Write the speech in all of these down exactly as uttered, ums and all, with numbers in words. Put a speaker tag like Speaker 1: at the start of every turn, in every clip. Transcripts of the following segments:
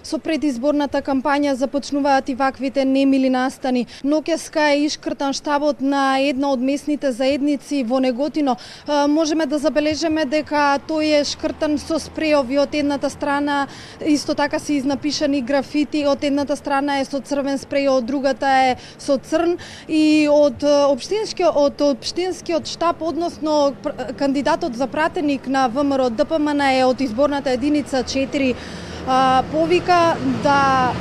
Speaker 1: со предизборната кампања започнуваат и ваквите немили настани. Ноќеска е ишкртан штабот на една од местните заедници во Неготино. Можеме да забележиме дека тој е шкртан со спреови од едната страна, исто така се изнапишани графити, од едната страна е со црвен спреј, од другата е со црн, и од општинскиот од општинскиот штаб, односно кандидатот за пратеник на ВМРО Д П М Н е од изборната единица четири, повика да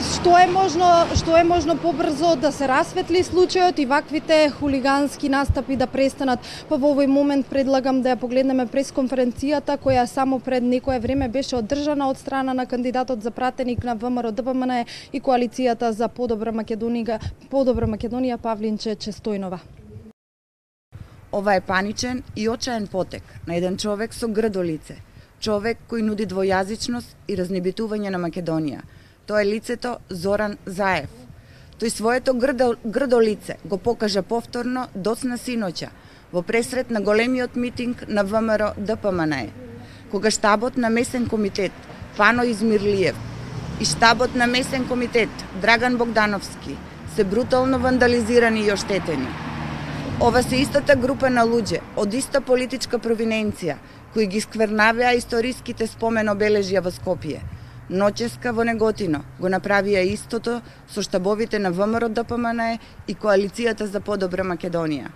Speaker 1: што е можно што е можно побрзо да се расветли случајот и ваквите хулигански настапи да престанат. Па во овој момент предлагам да ја погледнеме пресконференцијата која само пред некое време беше одржана од страна на кандидатот за пратеник на ВМРО Д П М Н и коалицијата за подобра Македонија, подобра Македонија Павлинче Честојнова.
Speaker 2: Ова е паничен и очаен потек на еден човек со грдо лице, човек кој нуди двојазичност и разнебитување на Македонија. Тоа е лицето Зоран Заев. Тој своето грдо, грдо лице го покажа повторно доцна синоќа во пресрет на големиот митинг на ВМРО Д П М Н, кога штабот на месен комитет Пано Измирлиев и штабот на месен комитет Драган Богдановски се брутално вандализирани и оштетени. Ова се истата група на луѓе од иста политичка провиненција кои ги сквернавеа историските спомен обележја во Скопје. Ноќеска во Неготино го направија истото со штабовите на ВМРО Д П М Н и коалицијата за подобра Македонија.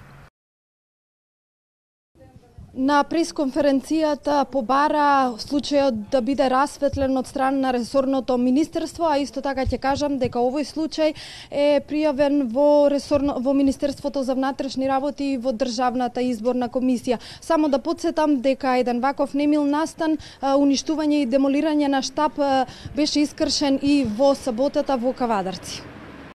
Speaker 1: На пресконференцијата побара случајот да биде расветлен од страна на ресорното министерство, а исто така ќе кажам дека овој случај е пријавен во ресорно во Министерството за внатрешни работи и во Државната изборна комисија. Само да потсетам дека еден ваков немил настан, уништување и демолирање на штаб беше искршен и во саботата во Кавадарци.